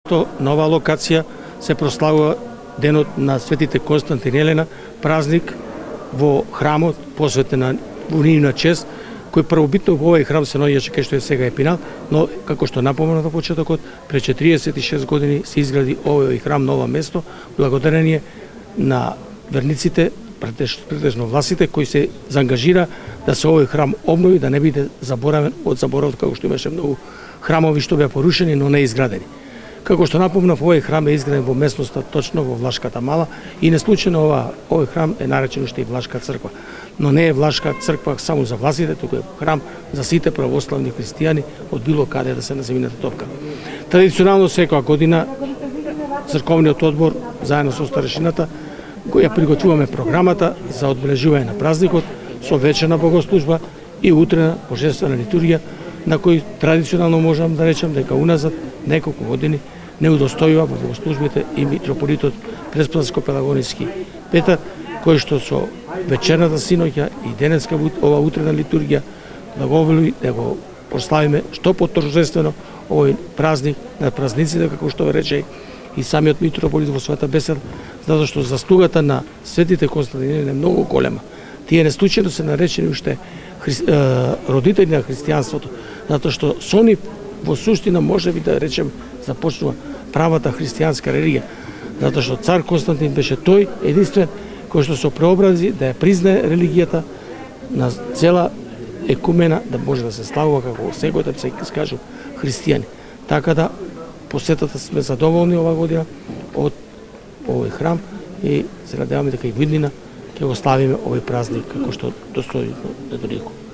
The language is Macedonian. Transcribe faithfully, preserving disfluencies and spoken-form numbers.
На оваа локација се прославува денот на светите Константин и Елена, празник во храмот посветен на нивна чест, кој првобитно во овој храм се наоѓаше кај што е сега Епинал, но како што напоменав на почетокот, пред четириесет и шест години се изгради овој храм на ова место, благодарение на верниците, претежно власите, кои се заангажира да се овој храм обнови, да не биде заборавен од заборавот, како што имаше многу храмови што беа порушени, но не изградени. Како што напомнав, овој храм е изграден во местноста точно во Влашката мала и не случајно ова овој храм е наречен уште и Влашка црква. Но не е Влашка црква само за власите, туку е храм за сите православни христијани од било каде да се на земјината топка. Традиционално секоја година црковниот одбор заедно со старешината ја приготвуваме програмата за одбележување на празникот со вечерна богослужба и утрена божествена литургија, на кој традиционално можам да речам дека уназад неколку години не удостојува во богослужбите и митрополитот Преспаско-Пелагонички Петар, кој што со вечерната синоќа и денеска ова утрена литургија благоволи да го прославиме што поторжествено овој празник на празниците, како што рече и самиот митрополит во својата беседа, затоа што заслугата на светите Константин е многу голема. Тие не случајно се наречени уште хри... родители на христијанството, затоа што со нив во суштина може би да речем започнува правата христијанска религија, затоа што цар Константин беше тој единствен кој што се преобрази да ја признае религијата на цела екумена, да може да се славува како секој се кажу христијани. Така да посетата сме задоволни ова година од овој храм и се надеваме дека и во иднина ќе го славиме овој празник како што достои на Недолико.